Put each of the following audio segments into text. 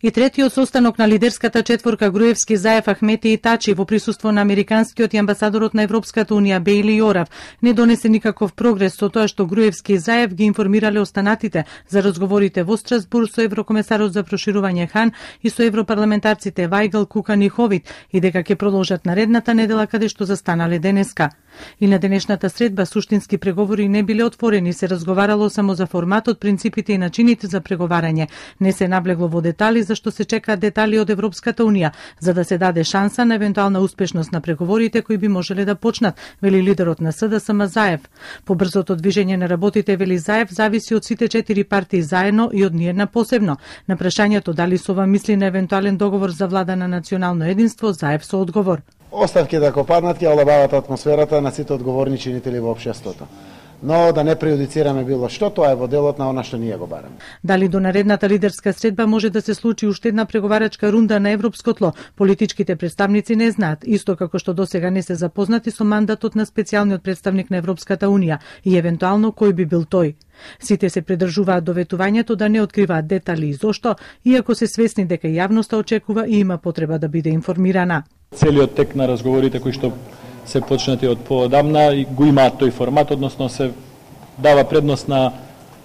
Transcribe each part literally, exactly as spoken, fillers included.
И третиот состанок на лидерската четворка Груевски, Заев, Ахмети и Тачи во присуство на американскиот и амбасадорот на Европската унија Бејли Јорав не донесе никаков прогрес со тоа што Груевски и Заев ги информирале останатите за разговорите во Страсбург со еврокомесарот за проширување Хан и со европарламентарците Вајгл, Кукан и Ховит и дека ќе продолжат наредната недела каде што застанале денеска. И на денешната средба суштински преговори не биле отворени, се разговарало само за форматот, принципите и начините за преговарање. Не се наблегло во детали зашто се чекаат детали од Европската унија, за да се даде шанса на евентуална успешност на преговорите кои би можеле да почнат, вели лидерот на СДСМ Заев. Побрзото движење на работите, вели Заев, зависи од сите четири партии заедно и од ниедна посебно. На прашањето дали сова мисли на евентуален договор за влада на национално единство, Заев со одговор: оставки да копаднат ќе олабават атмосферата на сите одговорни чинители во општеството. Но да не прејудицираме било што, тоа е во делот на она што ние го бараме. Дали до наредната лидерска средба може да се случи уште една преговарачка рунда на европско тло, политичките представници не знаат, исто како што досега не се запознати со мандатот на специјалниот представник на Европската унија и евентуално кој би бил тој. Сите се придржуваат до ветувањето да не откриваат детали и зошто, иако се свесни дека јавноста очекува и има потреба да биде информирана. Целиот тек на разговорите кои што се почнати од поодамна и го имаат тој формат, односно се дава предност на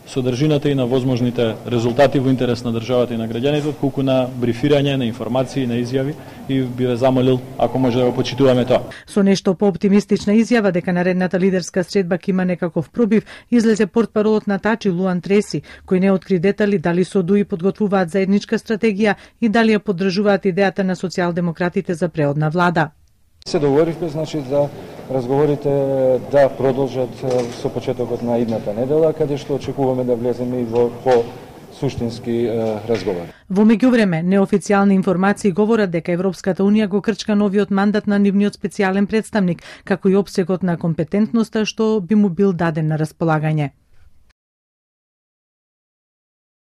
содржината и на возможните резултати во интерес на државата и на граѓаните, отколку на брифирање, на информации, на изјави, и би ве замолил ако може да го почитуваме тоа. Со нешто по-оптимистична изјава дека наредната лидерска средба ќе има некаков пробив, излезе портпаролот на Тачи Луан Треси, кој не откри детали дали со ДУИ подготвуваат заедничка стратегија и дали ја поддржуваат идејата на социјалдемократите за преодна влада. Се договоривме, значи, за разговорите да продолжат со почетокот на идната недела, каде што очекуваме да влеземе и во по суштински разговори. Во меѓувреме, неофицијални информации говорат дека Европската унија го крчка новиот мандат на нивниот специјален представник, како и опсегот на компетентноста што би му бил даден на располагање.